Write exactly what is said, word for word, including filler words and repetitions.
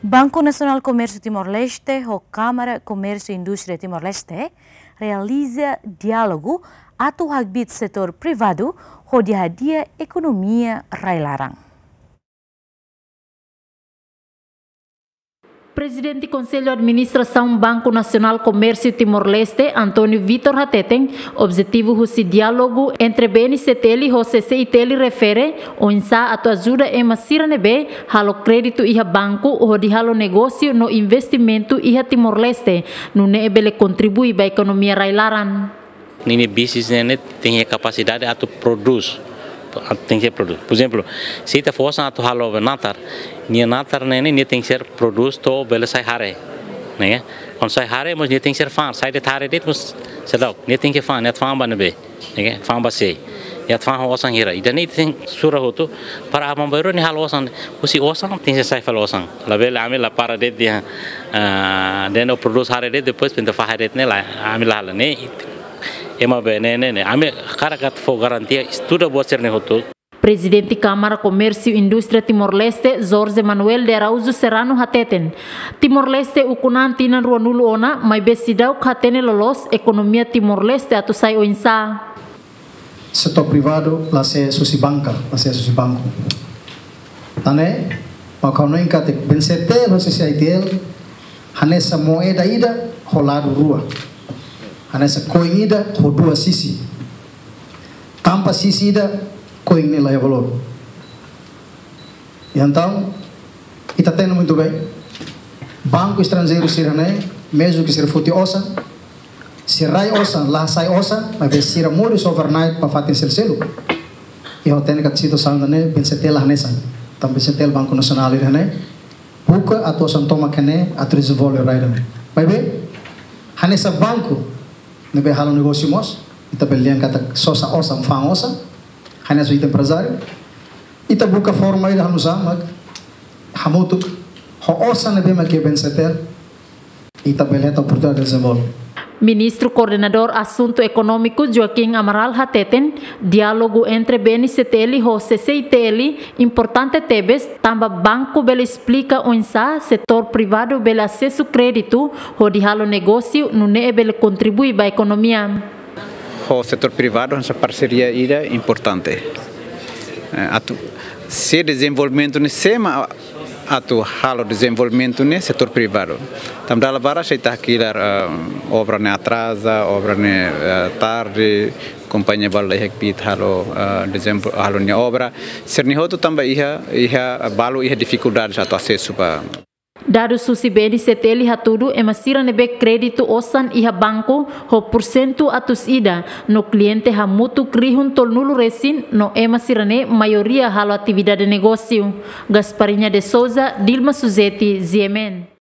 Banku Nasionál Komérsiu Timor-Leste ho Kámara Komérsiu Indústria Timor-Leste realiza diálogu atu hakbiit setór privadu hodi hadi'a ekonomia rai-laran. Prezidente Konsellu Administrasaun Banku Nasionál Komérsiu Timor-Leste, António Vitor hateten, objetivu husi diálogu entre B N C T L ho C C I T L refere oinsá atu ajuda ema sira ne'ebé halo kréditu iha banku hodi halo negósiu no investimentu iha Timor-Leste, nune'e bele kontribui ba ekonomia rai-laran. Ninia bisnis ne'e, ne'e tenke kapasidade atu prodús, atu tenke prodús. Por ezemplu, se ita fó osan atu halo natar, nia natar ne'e, ne'e, nia tenke prodús to'o bele sai hare, ne'e? Kuandu sai hare, mós nia tenke fa'an, sai de'it hare de'it, mós seidauk, nia tenke fa'an, nia atu fa'an ba ne'ebé, ne'e? Fa'an ba sé, nia atu fa'an ho osan hira. Ida-ne'e tenke sura hotu, para aban-bainrua nia halo osan, husi osan tenke sai fali osan. Labele ami la para de'it iha, ah, dehan ó prodús hare de'it, depois pinta fa'an hare de'it ne'e lae, ami la halo ne'e. Ema be ne'e, ne'e, ne'e. Ami hakarak atu fó garantia, estuda buat sira-ne'e hotu. Prezidente Kámara Komérsiu Indústria Timor-Leste, Jorge Manuel de Araújo Serrano hateten, Timor-Leste ukun an tinan ruanulu ona, maibé seidauk hatene loloos ekonomia Timor-Leste atu sai oinsá. Setór privadu la sei husi banka, la sei husi banku. Tan ne'e, mak ha'u hanoin katak B N C T L ho C C I T L hanesan moeda ida ho ladu rua. Hanesan koin ida ho dua sisi. Tanpa sisi ida, koin ne'e la iha valór. Entaun, ita hatene muitu bein. Banku estranjeiru sira-ne'e, mezmu ke sira foti osan, sira rai osan, la sai osan, maibé sira moris overnight ba fatin seluk-seluk. I ha'u hatene katak situasaun ida-ne'e, B N C T L la hanesan. Tanba B N C T L Banku Nasionál ida-ne'e buka atu osan tomak iha ne'e, atu dezenvolve rai ida-ne'e. Maibé, hanesan banku ne'ebé halo negósiu mós, ita bele dehan katak sosa osan, fa'an osan, hanesan ita emprezáriu. Ita buka forma ida hanu'usá mak hamutuk ho osan ne'ebé mak iha B N C T L, ita bele hetan oportunidade dezenvolve. Ministru Koordenadór Asuntu Ekonómiku Joaquim Amaral hateten, diálogu entre B N C T L ho C C I T L importante tebes, tanba banku bele esplika oinsá setór privadu bele asesu kréditu hodi halo negósiu, nune'e bele kontribui ba ekonomia. Ho setór privadu hanesan parseria ida importante. Eh, atu, se dezenvolvimentu ne'e, sé mak atu halo dezenvolvimentu ne'e, setór privadu. Tanba dala barak se ita hakilar, eh, obra ne'e atraza, obra ne'e, eh, tarde, kompañia balu la iha kbiit halo, eh, dezenvol-, halo nia obra. Sira-ne'e hotu tanba iha, iha balu iha difikuldade atu asesu ba. Dadus husi B N C T L hatudu ema sira ne'ebé kréditu osan iha banku ho pursentu atus ida, no kliente hamutuk rihun tolunulu resin, no ema sira-ne'e maioria halo atividade negósiu. Gasparinha de Souza, Dilma Suzeti, G M N.